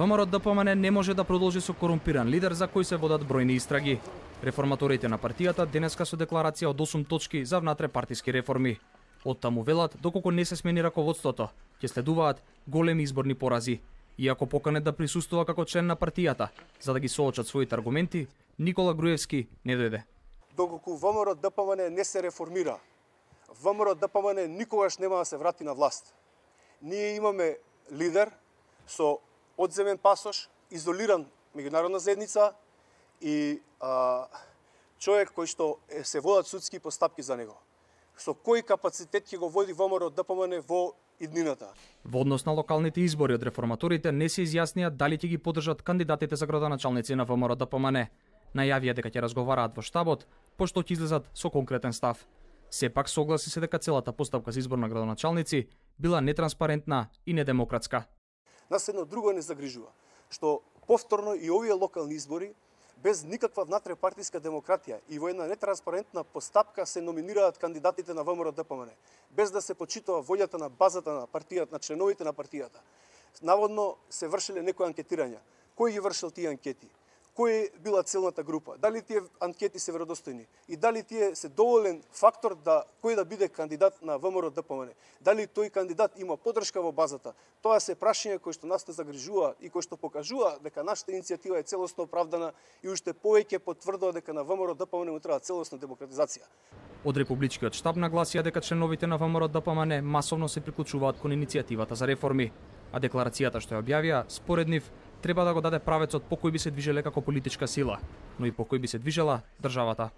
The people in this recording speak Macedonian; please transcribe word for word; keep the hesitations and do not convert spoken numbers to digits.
ВМРО Д П М Н не може да продолжи со корумпиран лидер за кој се водат бројни истраги. Реформаторите на партијата денеска со декларација од осум точки за внатрепартиски реформи. Од таму велат, доколку не се смени раководството, ќе следуваат големи изборни порази. Иако поканет да присуствува како член на партијата, за да ги соочат своите аргументи, Никола Груевски не дојде. Доколку ВМРО Д П М Н не се реформира, ВМРО Д П М Н никогаш нема да се врати на власт. Ние имаме лидер со одземен пасош, изолиран меѓународна заедница и а, човек кој што е, се водат судски постапки за него. Со кој капацитет ќе го води ВМРО Д П М Н во иднината? Во однос на локалните избори од реформаторите не се изјаснија дали ќе ги поддржат кандидатите за градоначалници на ВМРО Д П М Н. Најавија дека ќе разговараат во штабот, пошто ќе излезат со конкретен став. Сепак согласи се дека целата постапка за избор на градоначалници била нетранспарентна и недемократска. Нас едно друго не загрижува, што повторно и овие локални избори без никаква внатрепартиска демократија и во една нетранспарентна постапка се номинираат кандидатите на ВМРО Д П М Н, без да се почитува волјата на базата на партијата, на членовите на партијата. Наводно се вршеле некои анкетирања. Кој ги вршил тие анкети? Кој била целната група? Дали тие анкети се веродостојни? И дали тие се доволен фактор да кој да биде кандидат на ВМРО Д П М Н? Дали тој кандидат има поддршка во базата? Тоа се прашања кои што нас не загрижува и кои што покажува дека нашата иницијатива е целосно оправдана и уште повеќе потврдува дека на ВМРО Д П М Н му треба целосна демократизација. Од републичкиот штаб нагласија дека членовите на ВМРО Д П М Н масовно се приклучуваат кон иницијативата за реформи, а декларацијата што ја објавија, според нив, треба да го даде правецот по кој би се движеле како политичка сила, но и по кој би се движела државата.